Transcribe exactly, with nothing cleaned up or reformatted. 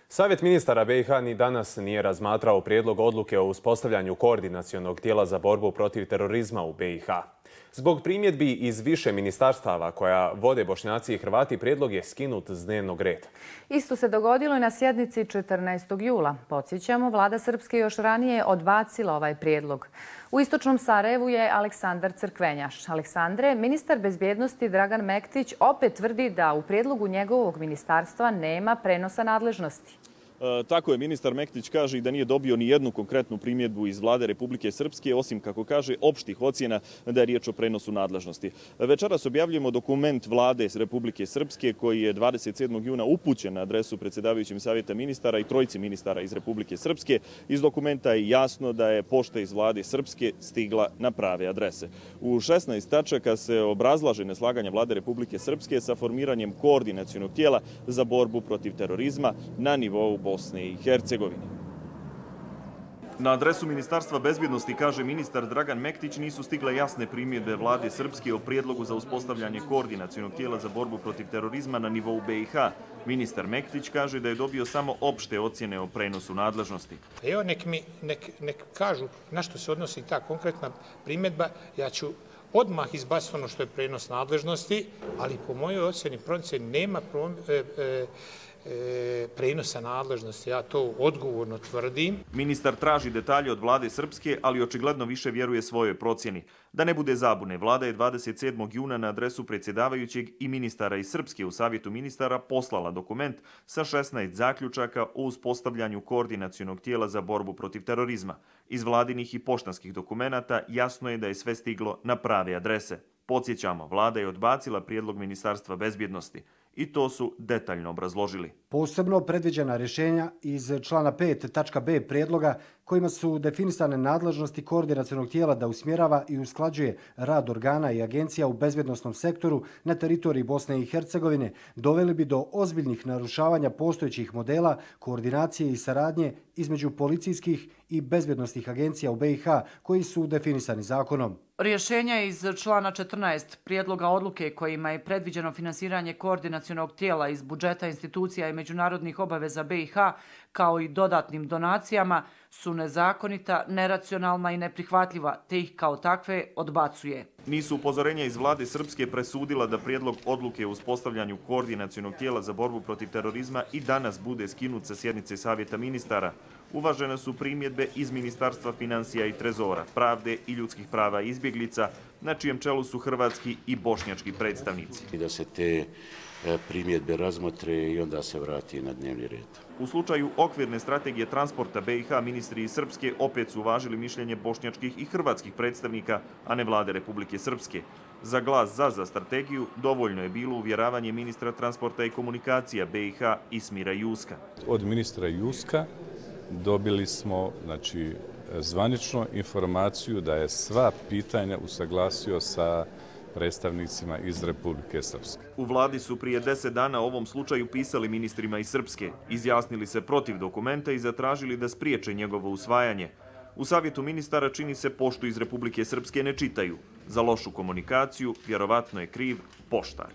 Savjet ministara B i H ni danas nije razmatrao prijedlog odluke o uspostavljanju koordinacionog tijela za borbu protiv terorizma u B i H. Zbog primjedbi iz više ministarstava koja vode Bošnjaci i Hrvati, prijedlog je skinut s dnevnog reda. Isto se dogodilo i na sjednici četrnaestog jula. Podsjećamo, vlada Srpske još ranije odbacila ovaj prijedlog. U istočnom Sarajevu je Aleksandar Crkvenjaš. Aleksandre, ministar bezbjednosti Dragan Mektić opet tvrdi da u prijedlogu njegovog ministarstva nema prenosa nadležnosti. Tako je, ministar Mektić kaže i da nije dobio ni jednu konkretnu primjedbu iz vlade Republike Srpske, osim, kako kaže, opštih ocjena da je riječ o prenosu nadležnosti. Večeras objavljujemo dokument vlade Republike Srpske koji je dvadeset sedmog juna upućen na adresu predsjedavajućim Savjeta ministara i trojici ministara iz Republike Srpske. Iz dokumenta je jasno da je pošta iz vlade Srpske stigla na prave adrese. U šesnaest tačaka se obrazlaže neslaganje vlade Republike Srpske sa formiranjem koordinacionog tijela za borbu protiv terorizma na nivou Bosne i Hercegovine. Na adresu Ministarstva bezbjednosti, kaže ministar Dragan Mektić, nisu stigle jasne primjedbe vlade Srpske o prijedlogu za uspostavljanje koordinacionog tijela za borbu protiv terorizma na nivou B i H. Ministar Mektić kaže da je dobio samo opšte ocjene o prenosu nadležnosti. Evo, nek mi nek, nek kažu na što se odnosi ta konkretna primjedba, ja ću odmah izbaciti ono što je prenos nadležnosti, ali po mojoj ocjeni procjeni nema prom, e, e, prenosa nadležnosti, ja to odgovorno tvrdim. Ministar traži detalje od vlade Srpske, ali očigledno više vjeruje svojoj procjeni. Da ne bude zabune, vlada je dvadeset sedmog juna na adresu predsjedavajućeg i ministara iz Srpske u Savjetu ministara poslala dokument sa šesnaest zaključaka o uspostavljanju koordinacionog tijela za borbu protiv terorizma. Iz vladinih i poštanskih dokumenata jasno je da je sve stiglo na prave adrese. Podsjećamo, vlada je odbacila prijedlog Ministarstva bezbjednosti i to su detaljno obrazložili. Posebno predviđena rješenja iz člana pet tačka b prijedloga kojima su definisane nadležnosti koordinacionog tijela da usmjerava i usklađuje rad organa i agencija u bezbjednosnom sektoru na teritoriji Bosne i Hercegovine doveli bi do ozbiljnih narušavanja postojećih modela koordinacije i saradnje između policijskih i bezbjednosnih agencija u B i H koji su definisani zakonom. Rješenja iz člana četrnaest prijedloga odluke kojima je predviđeno finansiranje koordinacionog tijela iz budžeta institucija i međunarodnih obaveza B i H kao i dodatnim donacijama su nezakonita, neracionalna i neprihvatljiva, te ih kao takve odbacuje. Nisu upozorenja iz vlade Srpske presudila da prijedlog odluke o uspostavljanju koordinacionog tijela za borbu protiv terorizma i danas bude skinut sa sjednice Savjeta ministara. Uvažene su primjedbe iz Ministarstva financija i trezora, pravde i ljudskih prava i izbjeglica, na čijem čelu su hrvatski i bošnjački predstavnici. I da se te primjedbe razmotre i onda se vrati na dnevni red. U slučaju okvirne strategije transporta B i H, ministri iz Srpske opet su uvažili mišljenje bošnjačkih i hrvatskih predstavnika, a ne vlade Republike Srpske. Za glas za za strategiju dovoljno je bilo uvjeravanje ministra transporta i komunikacija B i H Ismira Juska. Od ministra Juska dobili smo, znači, zvaničnu informaciju da je sva pitanja usaglasio sa predstavnicima iz Republike Srpske. U vladi su prije deset dana o ovom slučaju pisali ministrima iz Srpske, izjasnili se protiv dokumenta i zatražili da spriječe njegovo usvajanje. U Savjetu ministara čini se poštu iz Republike Srpske ne čitaju. Za lošu komunikaciju vjerovatno je kriv poštar.